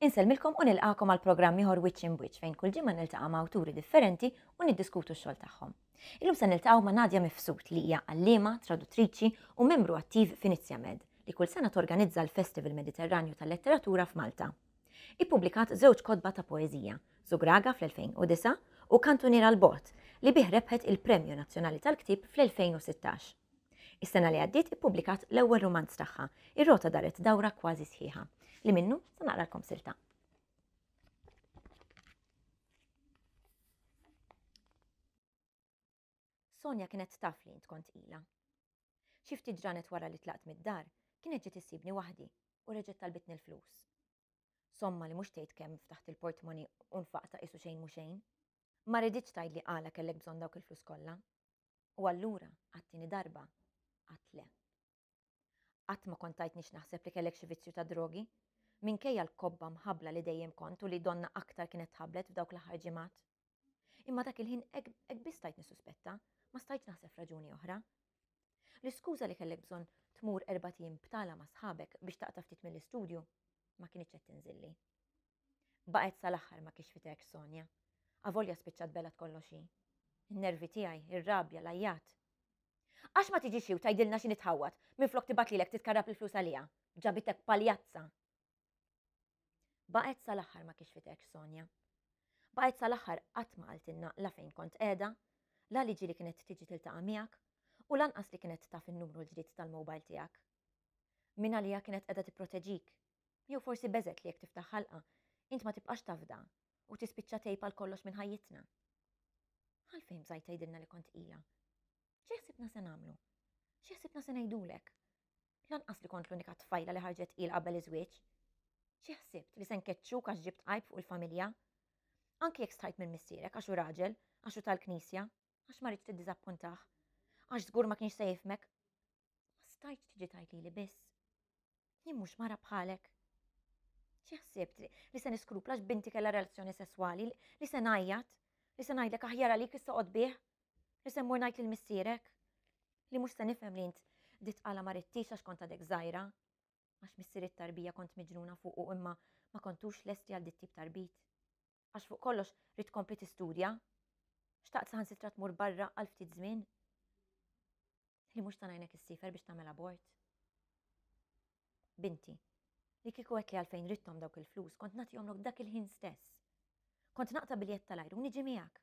Insellmilkom u nilqakom għal programm ieħor Wiċċ Imbwiċċ fejn kull ġimgħa niltaqa' ma' awturi differenti u niddiskutu x-xogħol tagħhom. Illum se niltaqgħu ma' Nadia Mifsud li hija għalliema, traduttriċi u membru attiv f'Inizjamed li kull sena torganizza l-Festival Mediterranju tal-Letteratura f'Malta. Ippubblikat żewġ kotba ta' poeżija, Zugraga fl-2009 u Kantuniera 'l Bogħod li bih rebħet il-Premju Nazzjonali tal-Ktieb fl-2016. Is-sena li għaddiet ippubblikat l-ewwel rumanz tagħha, Ir-Rota Daret Dawra Kważi Sħiħa, li minnu se naqralkom silta. Sonja kienet taf li int kont tqila. Xi ftit ġranet wara li tlaqt mid-dar, kienet ġiet issibni waħdi u reġgħet talbitni l-flus. Somma li mhux tgħid kemm ftaħt il-portmoni u nfaqta qisu xejn mhu xejn. Ma riditx tgħidli għala kellek bżonn dawk il-flus kollha. U allura, għat-tieni darba, għadt le. Qatt ma kont tajtni x'naħseb li kellek xi vizzju ta' drogi, minkejja l-kobba mħabbla li dejjem kont u li donna aktar kienet tħabblet f'dawk l-aħħar ġimgħat. Imma dak il-ħin hekk biss stajt nissuspetta, ma stajtx naħseb f'raġuni oħra. L-iskuża li kellek bżonn tmur erbat ijiem btala ma' sħabek biex taqta' ftit mill-istudju ma kinitx qed tinżilli. Baqgħet sal-aħħar ma kixfitekx Sonja. Avolja spiċċat belgħet kollox hi. In-nervi tiegħi, ir-rabja, l-għajjat. Għax ma tiġix hi u tgħidilna x'inhi tħawwad minflok tibgħat lilek titkarrab il-flus għaliha. Ġabitek paljazza. Baqgħet sal-aħħar ma kixfitekx Sonja. Baqgħet sal-aħħar qatt ma qaltilna la fejn kont qiegħda, la li ġieli kienet tiġi tiltaqa' miegħek u lanqas li kienet taf in-numru l-ġdid tal-mobile tiegħek. Min għaliha kienet qiegħda tipproteġik Jew forsi beżgħet li jekk tiftaħ ħalqha, int ma tibqax tafda u tispiċċa tgħib għal kollox minn ħajjitna. Għalfejn bżajt tgħidilna li kont tqila? Xi ħsibna se nagħmlu? Xi ħsibna se ngħidulek? Lanqas li kont l-unika tfajla li ħarġet tqil qabel iż-żwieġ. Xi ħsibt li se nkeċċuk għax ġibt għajb fuq il-familja? Anki jekk stħajt minn missierek għax hu raġel, għax hu tal-knisja, għax ma ridtx tiddiżappuntah, għax żgur ma kienx se jifhmek. Ma stajtx tiġi tgħid lili biss. Jien mhux mara bħalek. Xi ħsibt li se niskrupla għax binti kellha relazzjoni sesswali, li se ngħajjat, li se ngħidlek aħjar għalik issa qod bih, li se mmur ngħid lil missierek, li mhux se nifhem li int ditqala ma ridtix għax kont għadek żgħira, għax missier it-tarbija kont miġnuna fuqu imma ma kontux lesti għal dit tip tarbit. Għax fuq kollox ridt tkompli tistudja. Xtaqt saħansitra tmur barra għal ftit żmien. Li mhux ta' ngħinek issiefer biex tagħmel abort. Binti, li kieku għedtli għalfejn ridthom dawk il-flus, kont nagħtihomlok dak il-ħin stess. Kont naqta' biljett tal-ajru u niġi miegħek.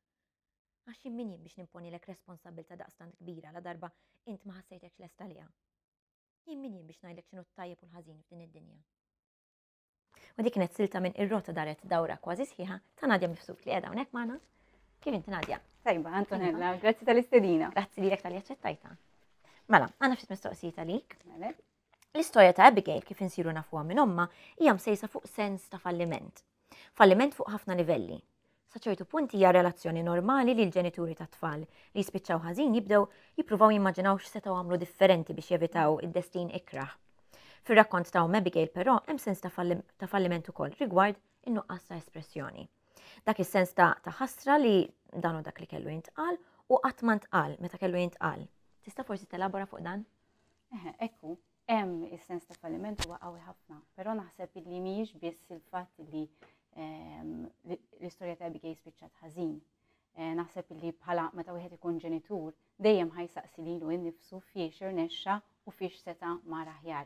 Għax jien min jien biex nimponilek responsabbiltà daqstant kbira la darba int ma ħassejtekx lest għaliha. Jien min jien biex ngħidlek x'inhu t-tajjeb u l-ħażin f'din id-dinja. U dik kienet silta minn Ir-Rota Daret Dawra Kważi Sħiħa ta' Nadia Mifsud li qiegħda hawnhekk magħna. Kif inti Nadia? Tajba, Antonella, grazzi tal-istedina. Grazzi lilek tal-li aċċettajta. Mela, għandna ftit mistoqsijiet għalik. Mela. L-istorja ta' Abigail kif insiru nafuha minn omma hija msejsa fuq sens ta' falliment. Falliment fuq ħafna livelli. Sa ċertu punt hija relazzjoni normali li l-ġenituri tat-tfal li jispiċċaw ħażin jibdew jippruvaw jimmaġinaw x'setgħu għamlu differenti biex jevitaw id-destin ikrah. Fir-rakkont ta' Omm Abigail però hemm sens ta' falliment ukoll rigward in-nuqqas ta' espressjoni. Dak is-sens ta' ħasra li dan hu dak li kellu jintqal u qatt ma ntqal meta kellu jintqal. Tista' forsi telabora fuq dan? Eħe, ekku, hemm is-sens ta' falliment huwa qawwi ħafna, però naħseb li mhijiex biss il-fatt li ehm, l-istorja ta' Abigail spiċċat ħażin. Eh, naħseb li bħala meta wieħed ikun ġenitur dejjem ħajsaqsi lilu innifsu fiex irnexxa u fiex seta' mar aħjar.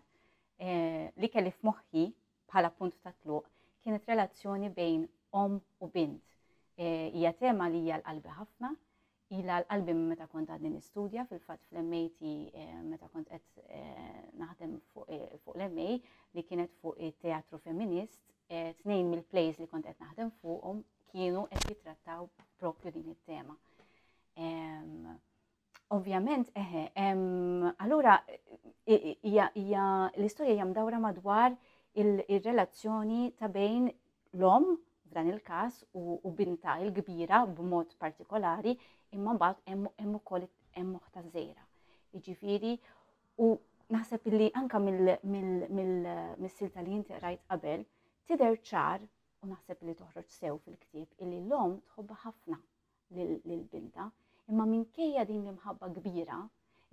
Eh, li kelli f'moħħi bħala punt ta' tluq kienet relazzjoni bejn om u bint. Eh, hija tema li hija l-qalbi ħafna, Ilha għal qalbi minn meta kont għadni nistudja, fil-fatt fl-MAT eh, meta kont qed eh, naħdem fuq eh, l-MA li kienet fuq it-teatru femminist, tnejn mill-plays li kont qed naħdem fuqhom kienu qed jitrattaw propju din it-tema. Ovvjament, eħe, allura hija l-istorja hija mdawra madwar il-relazzjoni ta' bejn l-omm f'dan il-każ u bintha il-kbira b'mod partikolari, imma mbagħad hemm ukoll hemm oħtha żgħira. Jiġifieri u naħseb illi anka mill-silta li inti qrajt qabel tidher ċar u naħseb li toħroġ sew fil-ktieb illi l-omm tħobbha ħafna lil bintha, imma minkejja din l-imħabba kbira,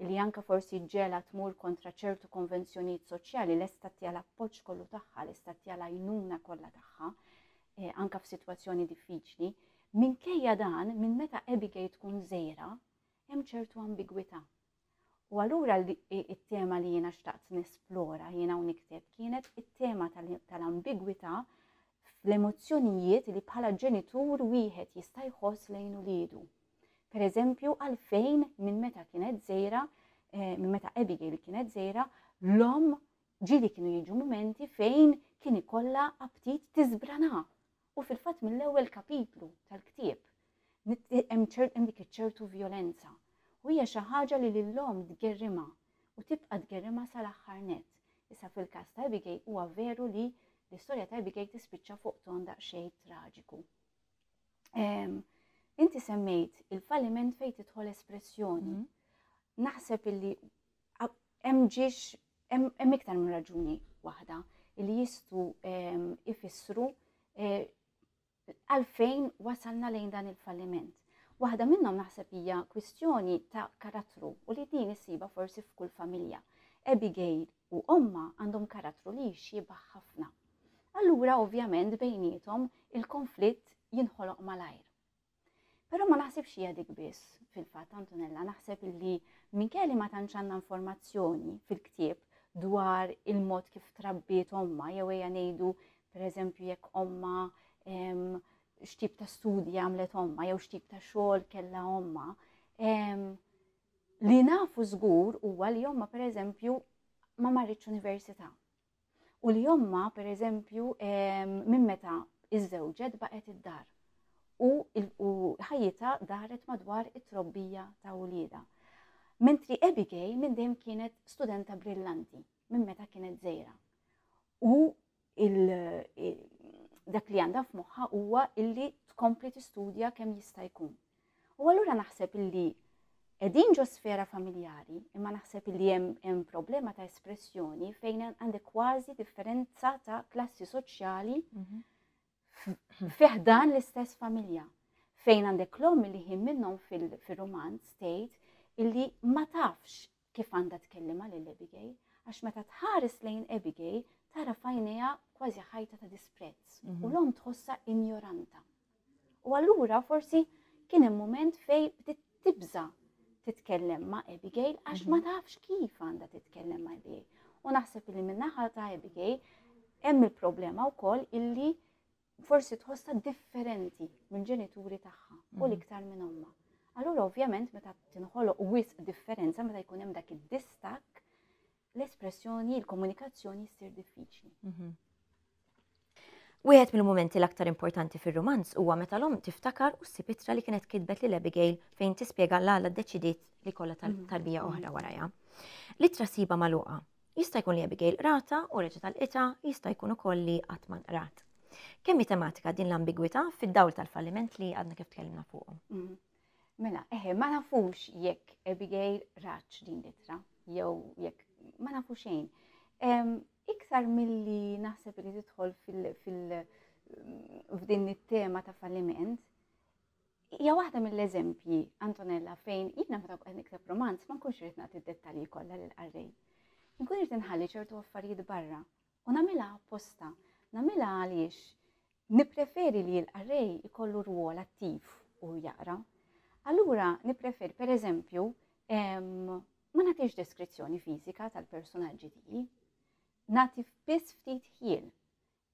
li anka forsi ġela tmur kontra ċertu konvenzjonijiet soċjali lesta tagħtiha l-appoġġ kollu tagħha, lesta tagħtiha l-għajnuna kollha tagħha, eh, anka f'sitwazzjoni diffiċli. Minkejja dan, minn meta Abigail tkun żgħira, hemm ċertu ambigwità. U allura it-tema li jiena xtaqt nesplora jiena u nikteb kienet it-tema tal-ambigwità fl-emozzjonijiet li bħala ġenitur wieħed jista' jħoss lejn uliedu. Per eżempju, għalfejn minn meta kienet żgħira, eh, minn meta Abigail kienet żgħira, l-omm ġieli kienu jiġu mumenti fejn kien ikollha aptit tiżbrana. U fil-fatt mill-ewwel kapitlu tal-ktieb hemm dik iċ-ċertu vjolenza. U hija xi ħaġa li lill-omm tgerrimha u tibqa' tgerrimha sal-aħħar nett. Issa fil-każ ta' Abigail huwa veru li l-istorja ta' Abigail tispiċċa fuq ton daqsxejn traġiku. Inti semmejt il-falliment fejn tidħol espressjoni. Naħseb illi hemm ġiex hemm iktar minn raġuni waħda li jistgħu ifissru eh, għalfejn wasalna lejn dan il-falliment. Waħda minnhom naħseb hija kwistjoni ta' karattru u li din issiba forsi f'kull familja. Abigail u omma għandhom karattru li jixxiebah ħafna. Allura ovvjament bejniethom il-konflitt jinħoloq malajr. Però ma naħsibx hija dik biss fil-fatt Antonella, naħseb illi minkejja li ma tantx għandna informazzjoni fil-ktieb dwar il-mod kif trabbiet omma jew ejja ngħidu pereżempju jekk omma x'tip ta' studji għamlet omma jew x'tip ta' xogħol kellha omma. Li nafu żgur huwa li omma pereżempju ma marritx università. U li omma, per eżempju, minn meta iżżewġet baqgħet id-dar u ħajjitha daret madwar it-trobbija ta' uliedha. Mentri Abigail minn dejjem kienet studenta brillanti minn meta kienet żgħira. U dak li għandha f'moħħha huwa illi tkompli tistudja kemm jista' jkun. U allura naħseb illi qegħdin ġo sfera familjari, imma naħseb illi hemm problema ta' espressjoni fejn għandek kważi differenza ta' klassi soċjali mhm. fih dan l-istess familja. Fejn għandek l-omm li ħin minnhom fil-romanz tgħid illi ma tafx kif għandha tkellimha lil Abigail, għax meta tħares lejn Abigail tara f'għajnejha kważi ħajta ta' disprezz u mhm. l-omm tħossha injoranta. U allura forsi kien hemm mument fej bdiet tibża titkellem ma' Abigail għax ma mhm. tafx kif għandha titkellem ma' Abigail. U naħseb li min-naħa ta' Abigail hemm il-problema wkoll illi forsi tħossha differenti mill-ġenituri tagħha u mhm. l-iktar minn ommha. Allura ovvjament meta tinħoloq wisq differenza meta jkun hemm dak id-distakk, l-espressjoni, il-komunikazzjoni ssir diffiċli. Mhm. Wieħed mill-mumenti l-aktar importanti fir-rumanz huwa meta l-omm tiftakar u ssib ittra li kienet kitbet lil Abigail fejn tispjega l-għala ddeċidiet li kollha mhm. tarbija oħra warajha. L-ittra siba magħluqa Jista' jkun li Abigail qratha u reġgħet għalqitha, jista' jkun ukoll li qatt ma nqrat. Kemm hi tematika din l-ambigwità fid-dawl tal-falliment li għadna kif tkellimna fuqu? Mm. Mela, eħe, ma nafux jekk Abigail ratx din l-ittra, jew jekk ma nafu xejn. Iktar milli naħseb li tidħol fil f'din it-tema ta' falliment, Hija waħda mill-eżempji, Antonella, fejn jiena meta qed nikteb romanz ma nkunx irid nagħti d-dettalji kollha lill-qarrej. Inkun irid inħalli ċertu affarijiet barra u nagħmilha apposta. Nagħmilha għaliex nippreferi li l-qarrej ikollu rwol attiv u jaqra. Allura nippreferi, per eżempju, ma nagħtix deskrizzjoni fiżika tal-personaġġi tiegħi. Nagħti biss ftit ħjiel.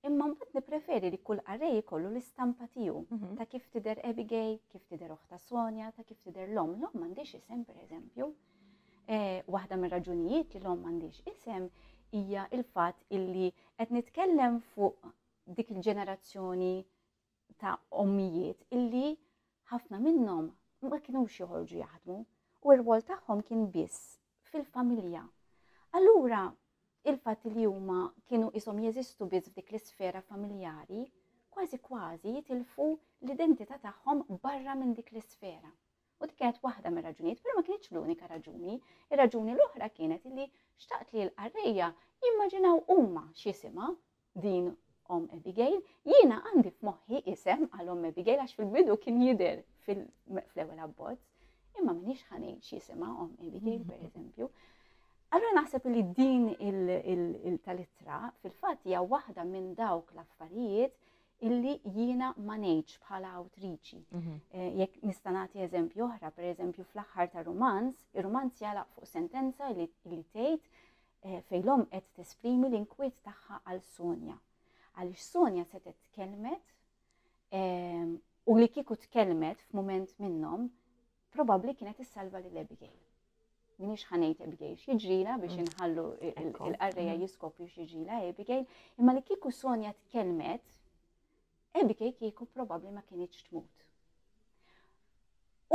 Imma mbagħad nippreferi li kull qarrej ikollu l-istampa tiegħu mhm. ta' kif tidher Abigail, kif tidher oħta Sonja, ta' kif tidher l-omm. L-omm m'għandix isem pereżempju. Eh, waħda mir-raġunijiet li l-omm m'għandix isem hija il-fatt illi qed nitkellem fuq dik il-ġenerazzjoni ta' ommijiet illi ħafna minnhom ma kinux joħorġu jaħdmu u r-rwol tagħhom kien biss fil-familja. Allura, il-fatt li huma kienu ishom jeżistu biss f'dik l-isfera familjari, kważi kważi jitilfu l-identità tagħhom barra minn dik l-isfera. U dik kienet waħda mir-raġunijiet, però ma kinitx l-unika raġuni. Ir-raġuni l-oħra kienet li xtaqt li l-qarrejja jimmaġinaw huma x'jisimha din omm Abigail. Jiena għandi f'moħħi isem għal omm Abigail għax fil-bidu kien jidher fl-ewwel abbozz. Imma m'iniex ħa ngħid x'jisimha omm Abigail, per eżempju. Allura naħseb li din il-tal-ittra fil-fatt hija waħda minn dawk l-affarijiet illi jiena ma ngħidx bħala awtriċi. Eh, jekk nista' nagħti eżempju oħra, per eżempju fl-aħħar ta' rumanz, ir-rumanz jagħlaq fuq sentenza li tgħid eh, fejn l-omm qed tesprimi l-inkwiet tagħha għal Sonja. Għaliex Sonja setgħet tkellmet ehm, u li kieku tkellmet f'mument minnhom, probabbli kienet issalva lil Abigail. Minix ħa ngħid Abigail x'jiġrilha biex inħallu il-qarrejja jiskopru x'jiġrilha Abigail, imma li kieku Sonja tkellmet, Abigail kieku probabbli ma kinitx tmut.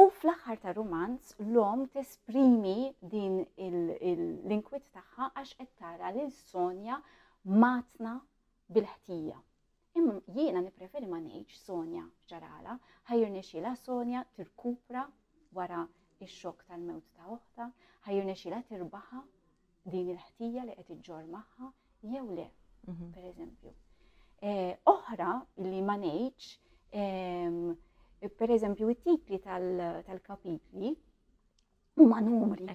U fl-aħħar ta' rumanz l-omm tesprimi din l-inkwiet tagħha għax qed tara lil Sonja matna bil-ħtija. Imma jiena nippreferi ma ngħidx Sonja x'ġaralha, ħa jirnexxielha Sonja tirkupra wara x-xokk tal-mewt ta' oħtha, ħa jirnexxielha tirbaħha din il-ħtija li qed iġġorr magħha jew le, mhm. per eżempju. Eh, oħra li ma ngħidx, ehm, per eżempju, it-titli tal-kapitli huma numri.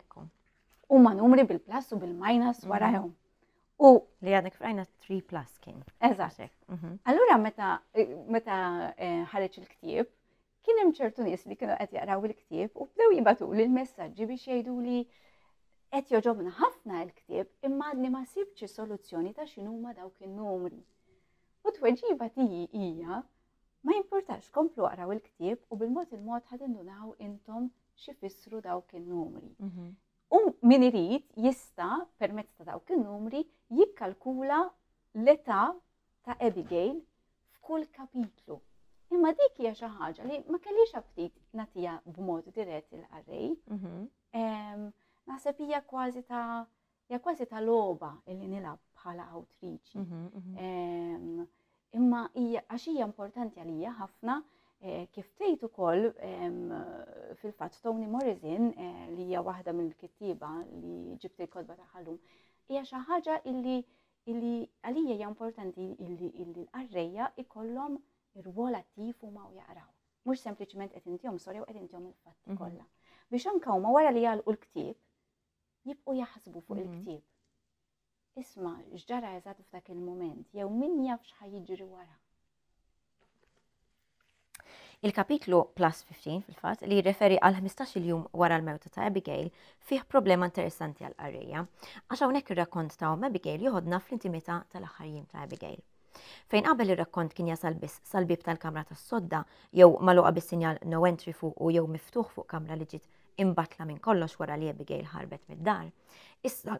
Huma numri bil-plus u bil-minus mhm. warahom. U li għadek frajna 3 plus kien. Eżatt. Mhm. Allura meta meta eh, ħareġ il-ktieb, kien hemm ċertu nies li kienu qed jaqraw il-ktieb u bdew jibatu li l-messaġġi biex jgħidu li qed joġobna ħafna l-ktieb imma għadni ma sibx soluzzjoni ta' x'inhuma dawk in-numri. U tweġiba tiegħi hija ma jimpurtax komplu aqraw il-ktieb u bil-mod il-mod ħa tindunaw intom x'ifissru dawk in-numri. Mhm. U min irid jista' permezz ta' dawk in-numri jikkalkula l-età ta' Abigail f'kull kapitlu. Imma dik hija xi ħaġa li ma kellix aptit nagħtiha b'mod dirett il-qarrej. Mhm. Naħseb hija kważi ta' hija kważi ta' logħba li nilgħab bħala awtriċi. Mhm, mhm. Imma hija għax hija importanti għalija ħafna eh, kif tgħid ukoll fil-fatt Toni Morrison eh, li hija waħda mill-kittieba li ġibt il-kotba tagħha llum, hija xi ħaġa illi illi għalija hija importanti illi l-qarrejja ikollhom ir-rwol attiv huma u jaqraw. Mhux sempliċement qed intihom storja u qed intihom il-fatti mhm. kollha. Biex anke huma wara li jagħlqu l-ktieb jibqgħu jaħsbu fuq mhm. il-ktieb. Isma' x'ġara eżatt f'dak il-mument, jew min jaf x'ħa jiġri wara. Il-kapitlu plus 15 fil-fatt li jirreferi għal 15 jum wara l-mewta ta' Abigail fih problema interessanti għal qarrejja. Għax hawnhekk ir-rakkont ta' omm Abigail joħodna fl-intimità tal-aħħar jiem ta' Abigail. Fejn qabel ir-rakkont kien jasal biss sal-bieb tal-kamra tas-sodda jew magħluqa bis-sinjal no entry fuqu jew miftuħ fuq kamra li ġiet imbattla minn kollox wara li Abigail ħarbet mid-dar. Issa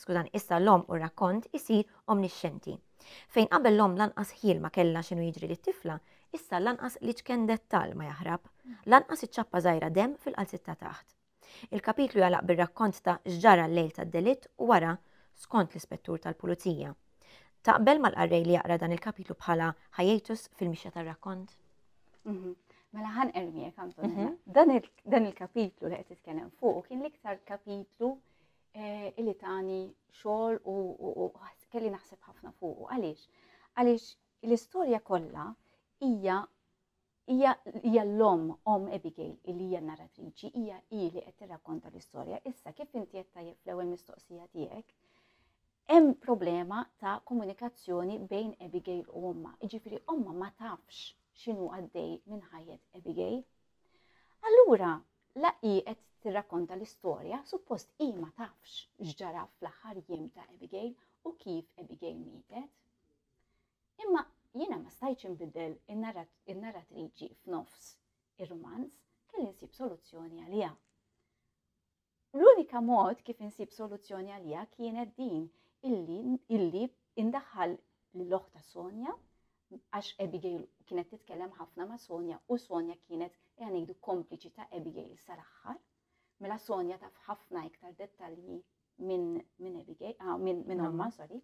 skużani, issa l-omm u r-rakkont isir omnixxenti. Fejn qabel l-omm lanqas ħjiel ma kellha x'inhu jiġri lit-tifla, issa lanqas l-iċken dettall ma jaħrab, lanqas iċ-ċappa żgħira demm fil-qalziet ta' taħt. Il-kapitlu jagħlaq bir-rakkont ta' x'ġara l-lejl tad-delitt u wara skont l-ispettur tal-pulizija. Taqbel mal-qarrej li jaqra dan il-kapitlu bħala hiatus fil-mixja tar-rakkont? Mhm. Mela ħan ermiek, Antonella. Mhm. Dan il-kapitlu li qed titkellem fuq kien l-iktar kapitlu eh, illi tani xogħol u kelli naħseb ħafna fuq. Għaliex? Għaliex l-istorja kollha hija hija hija l-omm omm Abigail illi hija narratriċi, hija hi li qed tirrakkonta l-istorja. Issa kif inti qed tajjeb fl-ewwel mistoqsija tiegħek, hemm problema ta' komunikazzjoni bejn Abigail u ommha. Jiġifieri ommha ma tafx x'inhu għaddej minn ħajjet Abigail. Allura, la hi qed tirrakkonta l-istorja, suppost hi ma tafx x'ġara fl-aħħar jiem ta' Abigail u kif Abigail mietet. Imma jiena ma stajtx inbiddel in-narratriċi f'nofs ir-rumanz, kelli nsib soluzzjoni għaliha. L-unika mod kif insib soluzzjoni għaliha kienet din illi illi indaħħal lil ta' Sonja għax Abigail kienet titkellem ħafna ma' Sonja u Sonja kienet ejja ngħidu kompliċi ta' Abigail sal-aħħar. Mela Sonja taf ħafna iktar dettalji minn min Abigail, ah, minn min omma, sorry.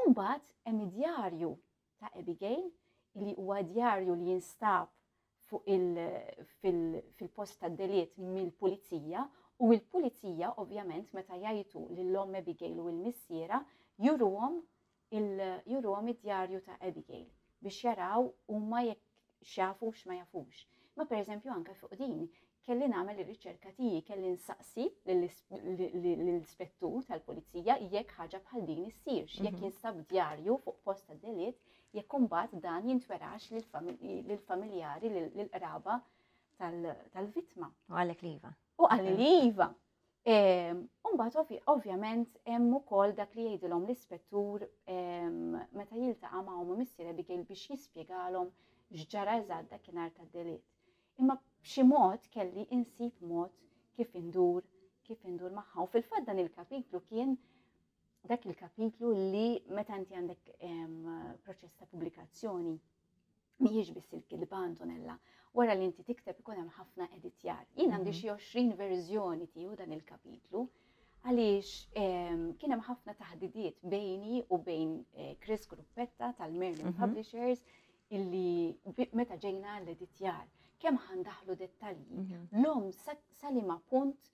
Umbagħad hemm id-djarju ta' Abigail li huwa djarju li jinstab fuq fil-post tad-delitt mill-pulizija u l-pulizija ovvjament meta jgħajtu lil omm Abigail u l-missiera juruhom juruhom id-djarju ta' Abigail biex jaraw huma jekk x'jafu x'ma jafux. Ma pereżempju anke fuq din kelli nagħmel ir-riċerka tiegħi, kelli nsaqsi lill-ispettur tal-pulizija jekk ħaġa bħal din issirx, jekk jinstab djarju fuq post ta' delitt, jekk imbagħad dan jintwerax lill-familjari, lill-qraba tal-vittma. U qalek li iva. U qalli li iva. Umbagħad ovvjament hemm ukoll dak li jgħidilhom l-ispettur meta jiltaqa' ma' omm u missier Abigail biex jispjegalhom x'ġara eżatt dakinhar tad-delitt. Imma b'xi mod kelli insib mod kif indur kif indur magħha. U fil-fatt dan il-kapitlu kien dak il-kapitlu li meta inti għandek proċess ta' pubblikazzjoni mhijiex biss il-kitba Antonella. Wara li inti tikteb ikun hemm ħafna editjar. Jien għandi xi 20 verżjoni tiegħu dan il-kapitlu għaliex kien hemm ħafna taħdidiet bejni u bejn eh, Chris Gruppetta tal-Merlin Publishers illi meta ġejna l-editjar kemm ħandaħlu dettalji. L-om sa liema punt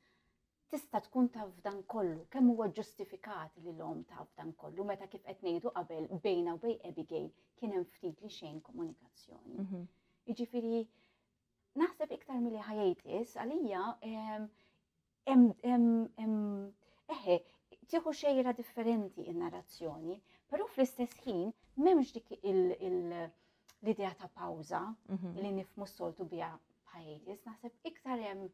tista' tkun taf f'dan kollu, kemm huwa ġustifikat li l-omm taf f'dan kollu, meta kif qed ngħidu qabel bejna u bejn Abigail kien hemm ftit li xejn komunikazzjoni. Jiġifieri naħseb iktar milli hiatus għalija eħe, tieħu xejra differenti in-narrazzjoni, però fl-istess ħin m'hemmx dik l-idea ta' pawża li nifhmu s-soltu biha hiatus, naħseb iktar hemm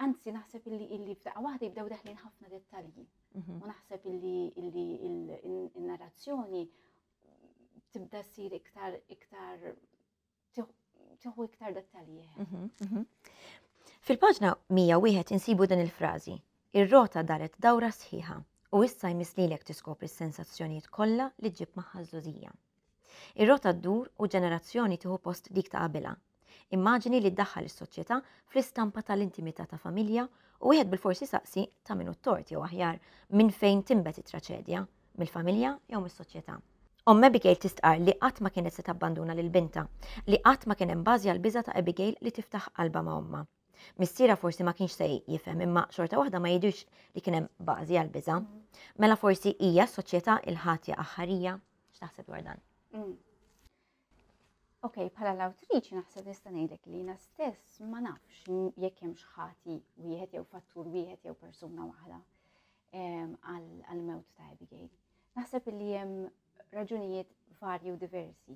anzi naħseb illi illi f'daqqa waħda jibdew deħlin ħafna dettalji. U naħseb illi illi il-narrazzjoni tibda ssir iktar iktar tieħu iktar dettalji. Fil-paġna 101 insibu din il-frażi. Ir-rota daret dawra sħiħa u issa jmiss lilek tiskopri s-sensazzjonijiet kollha li ġġib magħha ż-żgħożija. Ir-rota ddur u ġenerazzjoni tieħu post dik ta' qabilha. Immaġini li ddaħħal is-soċjetà fl-istampa tal-intimità ta' familja u wieħed bilfors isaqsi ta' min hu t-tort jew aħjar minn fejn tinbet it-traċedja, mill-familja jew mis-soċjetà. Omm Abigail tistqarr li qatt ma kienet se tabbanduna lil bintha, li qatt ma kien hemm bażi għall-biża' ta' Abigail li tiftaħ qalbha ma' ommha. Missierha forsi ma kienx se jifhem imma xorta waħda ma jidhirx li kien hemm bażi għall-biża'. Mela forsi hija s-soċjetà il-ħatja aħħarija? X'taħseb dwar dan? Ok, bħala l-awtriċi naħseb nista' ngħidlek li jiena stess ma nafx jekk hemmx ħati wieħed jew fattur wieħed jew persuna waħda għall-mewt ta' Abigail. Naħseb li hemm raġunijiet varji u diversi.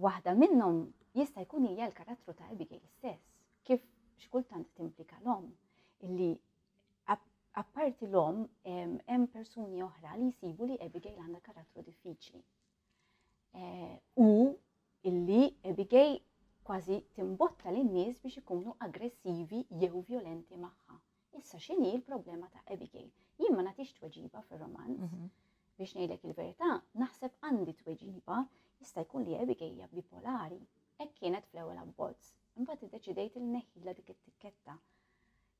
Waħda minnhom jista' jkun hija l-karattru ta' Abigail stess, kif xi kultant timplika l-omm illi apparti l-omm hemm persuni oħra li jsibu li Abigail għandha karattru diffiċli. U illi Abigail kważi timbotta lin-nies biex ikunu aggressivi jew violenti magħha. Issa x'inhi l-problema ta' Abigail? Jien ma nagħtix tweġiba fir-romanz. Biex ngħidlek il-verità, naħseb għandi tweġiba, jista' jkun li Abigail hija bipolari. Hekk kienet fl-ewwel abbozz. Imbagħad iddeċidejt li neħħilha dik it-tikketta.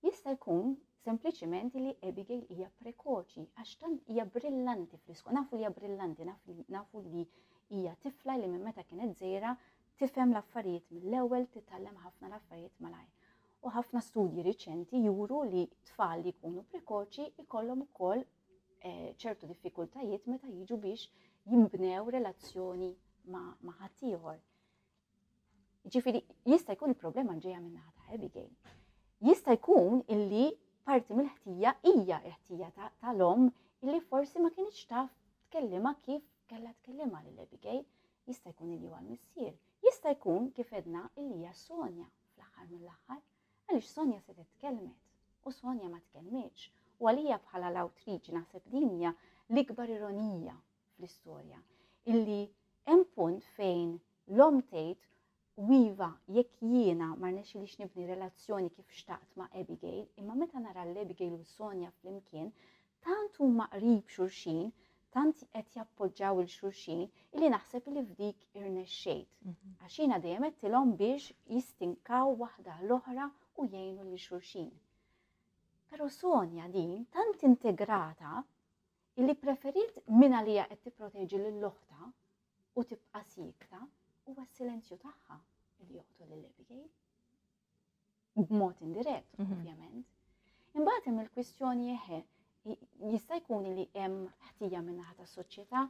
Jista' jkun sempliċiment li Abigail hija prekoċi għax tant hija brillanti fl-iskola. Nafu li hija brillanti, nafu li hija tifla li minn meta kienet żgħira tifhem l-affarijiet mill-ewwel, titgħallem ħafna l-affarijiet malajr. U ħafna studji riċenti juru li tfal li jkunu prekoċi jkollhom ukoll ċertu diffikultajiet meta jiġu biex jimbnew relazzjoni ma' ħaddieħor. Ġifieri jista' jkun il-problema ġejja minn naħa ta' Abigail. Jista' jkun illi parti mill-ħtija hija l-ħtija tal-omm illi forsi ma kinitx taf tkellimha kif kellha tkellimha lil Abigail. Jista' jkun illi huwa l-missier. Jista' jkun kif edna illi hija Sonja fl-aħħar mill-aħħar, għaliex Sonja se tkellmet u Sonja ma tkellmitx. U għalija bħala l-awtriċi naħseb din hija l-ikbar ironija fl-istorja illi hemm punt fejn l-omm tgħid u iva jekk jiena ma rnexxilix nibni relazzjoni kif xtaqt ma' Abigail, imma meta nara l-Abigail u Sonja flimkien, tant huma qrib xulxin, tant qed jappoġġaw il xulxin, illi naħseb li f'dik irnexxejt. Għax jiena dejjem għedtilhom biex jistinkaw waħda l-oħra u jgħinu lil xulxin. Però Sonja din tant integrata illi preferiet minn għalija qed tipproteġi lil oħtha u tibqa' siekta, huwa s-silenzju tagħha li joqtol lil Abigail. B'mod indirett, ovvjament. Imbagħad hemm il-kwistjoni eħe, jista' jkun li hemm ħtija min-naħa tas-soċjetà,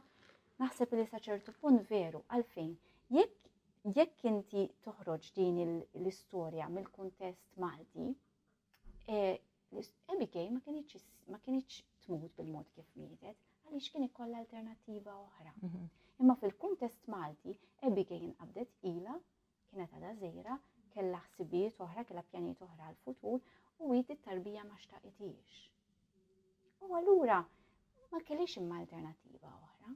naħseb li sa ċertu punt veru, għalfejn jekk Jekk inti toħroġ din l-istorja mill-kuntest Malti, eh, Abigail ma kienx ma kienx tmut bil-mod kif mietet, għaliex kien ikollha alternattiva oħra. Mhm. Imma fil-kuntest Malti, Abigail inqabdet ila, kienet għadha żgħira, kellha ħsibijiet oħra, kellha pjanijiet oħra għall-futur u hi tarbija ma xtaqitix. U allura ma kellix imma alternattiva oħra.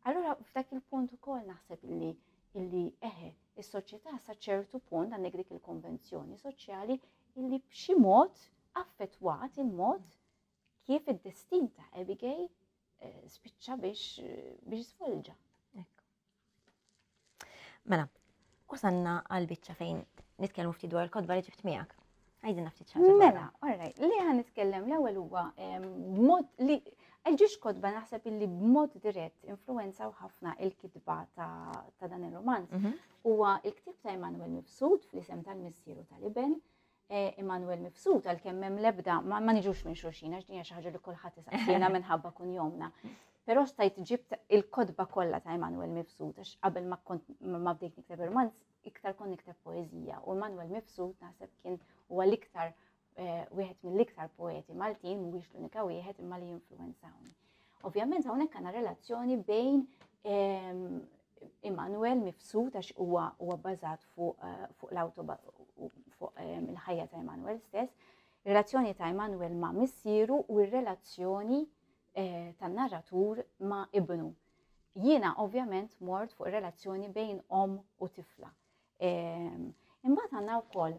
Allura f'dak il-punt ukoll naħseb illi illi eħe, is-soċjetà sa ċertu punt għandek dik il-konvenzjoni soċjali illi b'xi mod affettwat il-mod kif id-destin ta' Abigail eh, spiċċa biex biex svolġa. Mela, wasanna għal biċċa fejn nitkellmu ftit dwar il-kotba li ġibt miegħek. Għajdilna ftit xi Mela, alright, li ħan nitkellem l-ewwel huwa b'mod li ġiex kotba naħseb illi b'mod dirett influenzaw ħafna il-kitba ta' dan ir-romanz. Mhm. Huwa il-ktieb ta' Emanuel Mifsud fl-isem tal-missieru tal-iben Eh, Immanuel Mifsud għalkemm hemm l-ebda ma niġux minn xulxin għax din hija xi ħaġa li kulħadd isaqsina minħabba kunjomna. Però stajt ġibt il-kotba kollha ta' Immanuel Mifsud għax qabel ma kont ma bdejt nikteb romanz iktar kont nikteb poeżija u Immanuel Mifsud naħseb kien huwa l-iktar eh, wieħed mill-iktar poeti Maltin mhuwiex l-unika wieħed imma li jinfluwenzawni. Ovvjament hawnhekk għandna relazzjoni bejn ehm, Immanuel Mifsud għax huwa huwa bbażat fuq eh, fuq l-auto fuq eh, il-ħajja ta' Immanuel stess, relazzjoni ta' Immanuel ma' missieru u r-relazzjoni eh, tan-narratur ma' ibnu. Jiena ovvjament mort fuq relazzjoni bejn om u tifla. Ehm, imbagħad għandna wkoll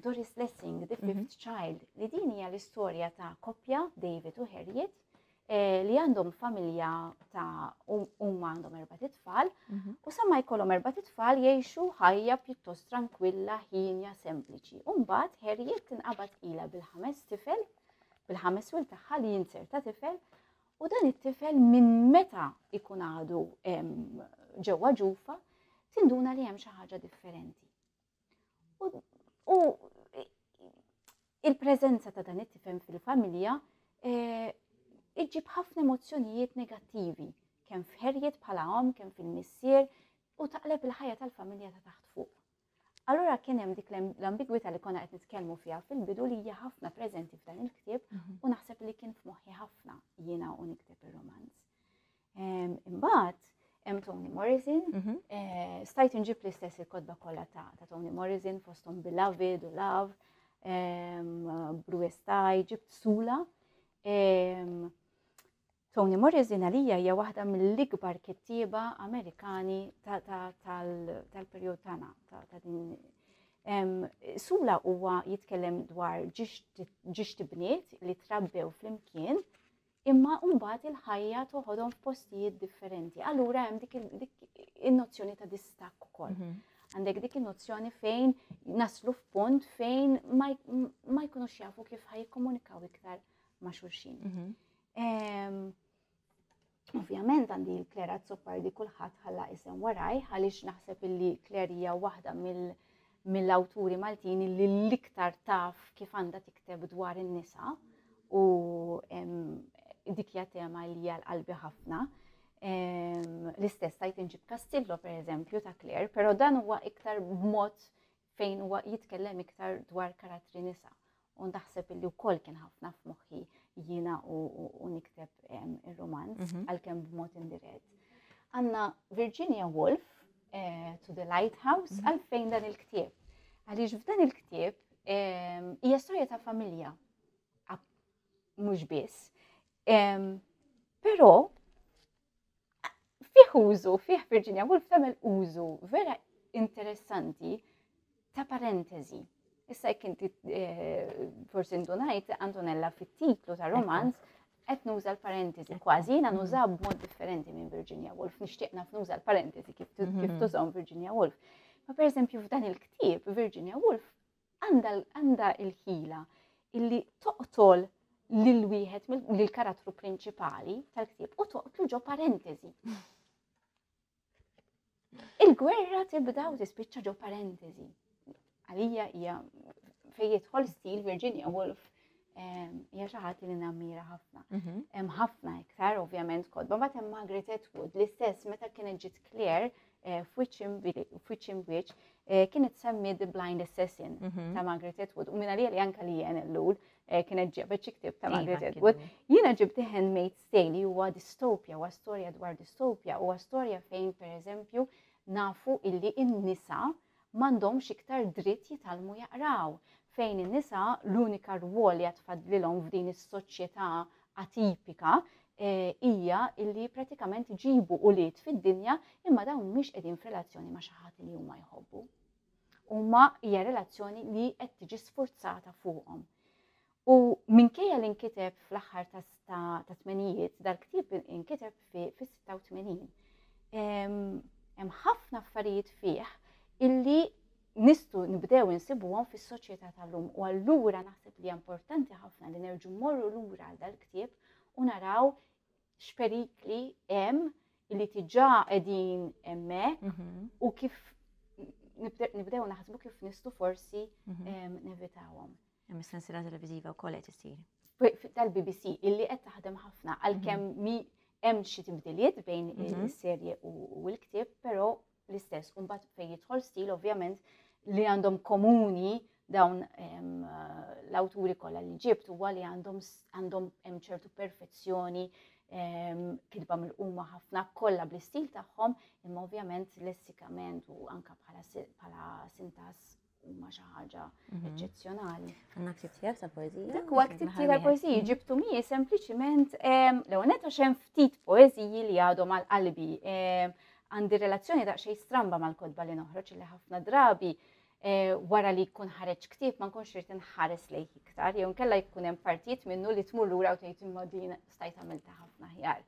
Doris Lessing, The mhm. Fifth Child, li din hija l-istorja ta' koppja, David u Harriet, eh, li għandhom familja ta' huma għandhom erba' tfal, mhm. u sa ma jkollhom erba' tfal jgħixu ħajja pjuttost tranquilla, ħinja, sempliċi. U mbagħad Harriet tinqabad ilha bil-ħames tifel, bil-ħames wil tagħha li jinserta tifel, u dan it-tifel minn meta ikun għadu ġewwa ġufa, tinduna li hemm xi ħaġa differenti. U il-preżenza ta' dan it-tifel fil-familja eh, iġġib ħafna emozzjonijiet negattivi, kemm f'Harriet bħala omm, kemm fil-missier, u taqleb il-ħajja tal-familja ta' taħt fuq. Allura kien hemm dik l-ambigwità li konna qed nitkellmu fiha fil-bidu li hija ħafna preżenti f'dan il-ktieb mhm. u naħseb li kien f'moħħi ħafna jiena u nikteb ir-romanz. Imbagħad hemm Toni Morrison, mhm. eh, stajt inġib l-istess il-kotba kollha ta' Toni Morrison fosthom Beloved u Love, Blue Sky, ġibt Sula. Toni Morrison għalija hija waħda mill-ikbar kittieba Amerikani tal-perjod tagħna ta' din Sula huwa jitkellem dwar ġiex tibniet li trabbew flimkien imma mbagħad il-ħajja toħodhom f'postijiet differenti. Allura hemm dik in-nozzjoni ta' distakk ukoll. Mhm. Għandek dik in-nozzjoni fejn naslu f'punt fejn ma jkunux jafu kif ħaj jikkomunikaw iktar ma' xulxin. Mhm. Ovvjament għandi l-Claire Azzopardi kulħadd ħalla isem waraj għaliex naħseb illi Claire hija waħda mill- mill-awturi Maltin li l-iktar taf kif għandha tikteb dwar in-nisa u dik hija tema li hija l-qalbi ħafna. L-istess tajt inġib Castillo per eżempju ta' Claire, però dan huwa iktar b'mod fejn huwa jitkellem iktar dwar karattri nisa. U naħseb illi wkoll kien ħafna f'moħħi jiena u nikteb ir-romanz mhm. għalkemm b'mod indirett. Għandna Virginia Woolf eh, to the Lighthouse mhm. għalfejn dan il-ktieb. Għaliex f'dan il-ktieb hija storja ta' familja mhux biss. Però fih użu, fih Virginia Woolf tagħmel użu vera interessanti ta' parentesi. Issa jekk inti eh, forsi ndunajt Antonella fit-titlu ta' romanz qed nuża l-parentesi kważi jiena mhm. nuża b'mod differenti minn Virginia Woolf, nixtieq naf nuża l-parentesi kif mhm. tużhom Virginia Woolf. Ma pereżempju f'dan il-ktieb Virginia Woolf għandha il-ħila illi toqtol lil wieħed lill-karattru prinċipali tal-ktieb u toqtlu ġo parentesi. Il-gwerra tibda u tispiċċa ġo parentesi. Għalija hija fejn jidħol stil Virginia Woolf hija xi ħadd li nammira ħafna. Mhm. Hemm ħafna iktar ovvjament kodba, mbagħad hemm Margaret Atwood l-istess meta kienet ġiet Claire. eh, f'Witch in Witch eh, kienet semmi The Blind Assassin mhm. ta' Margaret Atwood u minna li anka li jen l-lul eh, kienet ġebet xi ktieb ta' iva, Margaret Atwood. Jiena ġibt The Handmaid's Tale li huwa distopja, huwa storja dwar distopja, huwa storja fejn pereżempju nafu illi n-nisa m'għandhomx iktar dritt jitgħallmu jaqraw, fejn in-nisa l-unika rwol li għad fadlilhom f'din is-soċjetà atipika eh, hija illi pratikament iġibu ulied fid-dinja imma dawn mhumiex qegħdin f'relazzjoni ma' xi ħadd li huma jħobbu. Huma hija relazzjoni li qed tiġi sfurzata fuqhom. U minkejja li nkiteb fl-aħħar ta' tmenijiet, dal-ktieb inkiteb fis-86. Hemm ħafna affarijiet fih illi nistgħu nibdew insibuhom fis-soċjetà tal-lum u allura naħseb li importanti ħafna li nerġu mmorru lura għal dal-ktieb u naraw x'perikli hemm li tiġà qegħdin hemmhekk mhm. u kif nibdew naħsbu kif nistgħu forsi mhm. nevitawhom. Hemm is-sensiela televiżiva wkoll qed isir. Tal-BBC illi qed taħdem ħafna għalkemm mhm. mi hemm xi tibdiliet bejn mhm. is-serje u l-ktieb, però l-istess. U mbagħad fejn jidħol stil ovvjament li għandhom komuni dawn l-awturi kollha li ġibt huwa li għandhom għandhom hemm ċertu perfezzjoni kitba mill-quma ħafna kollha bl-istil tagħhom, imma ovvjament lessikament u anka bħala sintas huma xi ħaġa mhm. eċċezzjonali. Għandna ktib tiegħek tal-poeżija? Dak huwa ktib tiegħek tal-poeżiji mhm. ġibtu mi sempliċiment l-ewwel nett għax hemm ftit poeżiji li għadhom għal qalbi. Għandi relazzjoni daqsxejn stramba mal-kotba li noħroġ li ħafna drabi eh, wara li jkun ħareġ ktieb ma nkunx irid inħares lejh iktar, jew nkella jkun hemm partijiet minnu li tmur lura u tgħid imma din stajt għamilta ħafna aħjar.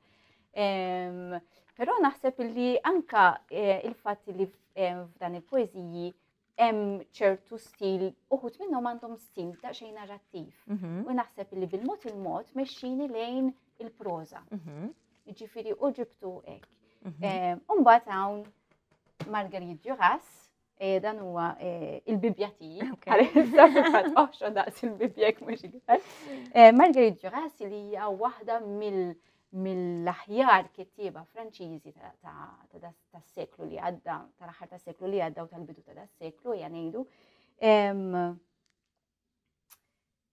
Però naħseb li anka eh, il-fatt li f'dan il-poeżiji hemm ċertu stil, uħut minnhom għandhom stil daqsxejn narrattiv. Mhm. U naħseb li bil-mod il-mod mexxini lejn il-proża. Mhm. Ġifieri u ġibtu hekk. Mhm. Eh, u mbagħad hawn Marguerite Duras, eh, dan huwa eh, il-Bibja tiegħi. Għalissa fil-fatt oħxo daqs il-Bibja jekk mhux iktar. Marguerite Duras li hija waħda mill mill-aħjar kittieba Franċiżi tas-seklu li għadda, tal-aħħar tas-seklu li għadda u tal-bidu ta' das-seklu, hija ngħidu.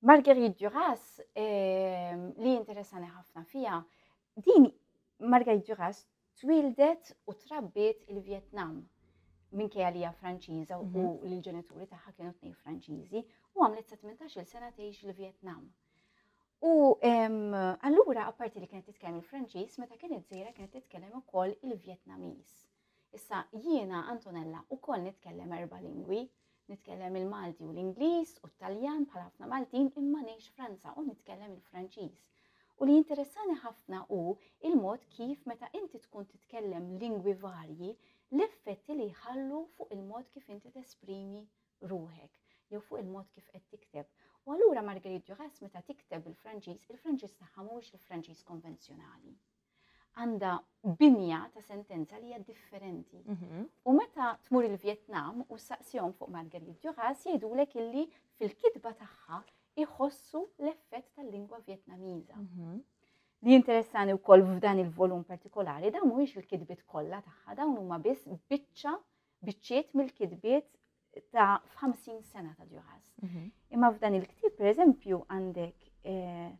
Marguerite Duras, li interessani ħafna fija, din Marguerite Duras twildet u trabbiet il-Vjetnam minkejja li hija Franċiża u mhm. l-ġenituri tagħha kienu tnejn Franċiżi u għamlet sa 18-il sena tgħix il-Vjetnam. U allura apparti li kienet titkellem il-Franċiż, meta kienet żgħira kienet titkellem ukoll il-Vjetnamiż. Issa jiena Antonella ukoll nitkellem erba' lingwi, nitkellem il-Malti u l-Ingliż u t-Taljan bħal ħafna Maltin imma ngħix Franza u nitkellem il-Franċiż. U li jinteressani ħafna hu il-mod kif meta inti tkun titkellem lingwi varji, l-effetti li jħallu fuq il-mod kif inti tesprimi ruħek jew fuq il-mod kif qed tikteb. U allura Marguerite Duras meta tikteb bil-Franċiż, il-Franċiż tagħha mhuwiex il-Franċiż konvenzjonali. Għandha binja ta' sentenza li hija differenti. Mhm. U meta tmur il-Vjetnam u saqsihom fuq Marguerite Duras jgħidulek illi fil-kitba tagħha iħossu l-effett tal-lingwa Vjetnamiża. Mhm. Li interessani wkoll f'dan il-volum partikolari, dawn mhuwiex il-kitbiet kollha tagħha, dawn huma biss biċċa biċċiet mill-kitbiet ta' 50 sena ta' Duras. Mhm. Imma f'dan il-ktieb, per eżempju, għandek eh,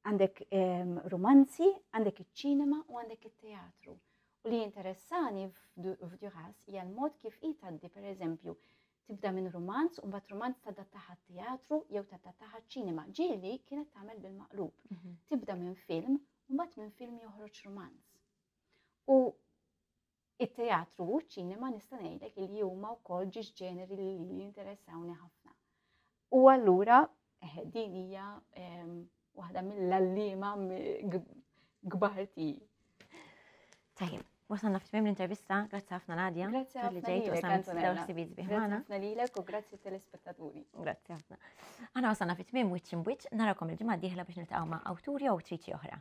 għandek ehm, romanzi, għandek iċ-ċinema u għandek it-teatru. U li interessani f'Duras hija l-mod kif hi tgħaddi per eżempju tibda minn romanz u mbagħad romanz tadattaha teatru jew tadattaha ċinema. Ġieli kienet tagħmel bil-maqlub. Mhm. Tibda minn film u mbagħad minn film joħroġ romanz. U It-teatru u ċ-ċinema nista' ngħidlek li huma wkoll ġiex ġeneri li jinteressawni ħafna. U allura eh, din hija ehm, waħda mill-għalliema kbar tiegħi. Tajjeb, wasalna fi tmiem l-intervista, grazzi ħafna Nadia. Grazzi ħafna li ġejt u samt dawn ħsibijiet sbieħ magħna. Grazzi ħafna lilek u grazzi telespettaturi. Grazzi ħafna. Aħna wasalna fi tmiem wiċċ imwiċċ, narakom il-ġimgħa d-dieħla biex niltaqgħu ma' awturi u awtriċi oħra.